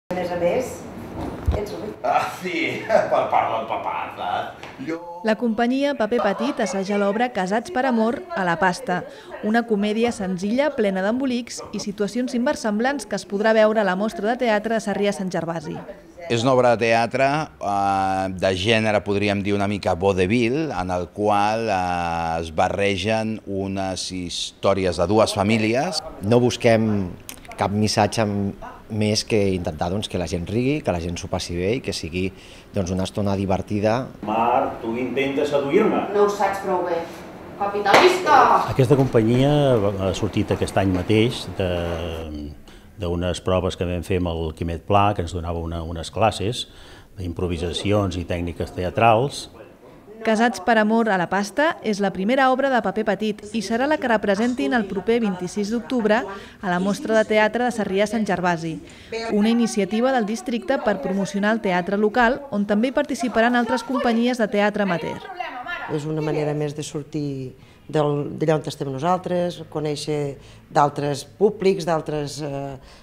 A més, ets ric. Ah, sí, per part del papà, saps? La companyia Paper Petit assaja l'obra Casats per amor a la pasta, una comèdia senzilla, plena d'embolics i situacions inversemblants que es podrà veure a la mostra de teatre de Sarrià Sant Gervasi. És una obra de teatre de gènere, podríem dir, una mica vodevil, en el qual es barregen unes històries de dues famílies. No busquem cap missatge més que intentar que la gent rigui, que la gent s'ho passi bé i que sigui una estona divertida. Marc, tu intentes seduir-me. No ho saps prou bé. Capitalista! Aquesta companyia ha sortit aquest any mateix d'unes proves que vam fer amb el Quimet Pla, que ens donava unes classes d'improvisacions i tècniques teatrals. Casats per amor a la pasta és la primera obra de Paper Petit i serà la que representin el proper 26 d'octubre a la Mostra de Teatre de Sarrià Sant Gervasi, una iniciativa del districte per promocionar el teatre local, on també hi participaran altres companyies de teatre amateur. És una manera més de sortir d'allà on estem nosaltres, conèixer d'altres públics, d'altres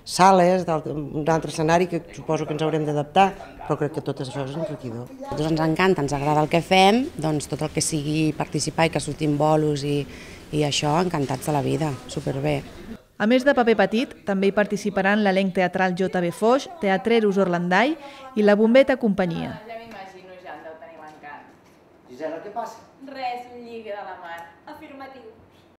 sales, d'un altre escenari que suposo que ens haurem d'adaptar, però crec que tot això és enriquidor. A nosaltres ens encanta, ens agrada el que fem, doncs tot el que sigui participar i que sortim bolos i això, encantats de la vida, superbé. A més de Paper Petit, també hi participaran l'elenc teatral JB Foix, Teatreros Orlandai i la Bombeta Companyia. Ja m'imagino, ja en deu tenir l'encant. Gisela, què passa? Res, un lligue de la mar. Afirmatiu.